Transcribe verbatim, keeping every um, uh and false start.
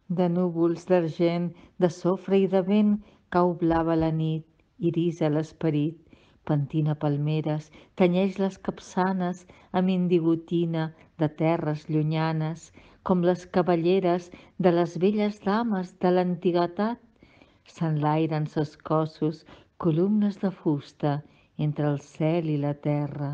De núvols d'argent, de sofre i de vent, cau blava la nit, irisa l'esperit, pentina palmeres, tenyeix les capçanes amb indigotina de terres llunyanes, com les cavalleres de les velles dames de l'antiguitat. S'enlairen ses cossos, columnes de fusta, entre el cel i la terra.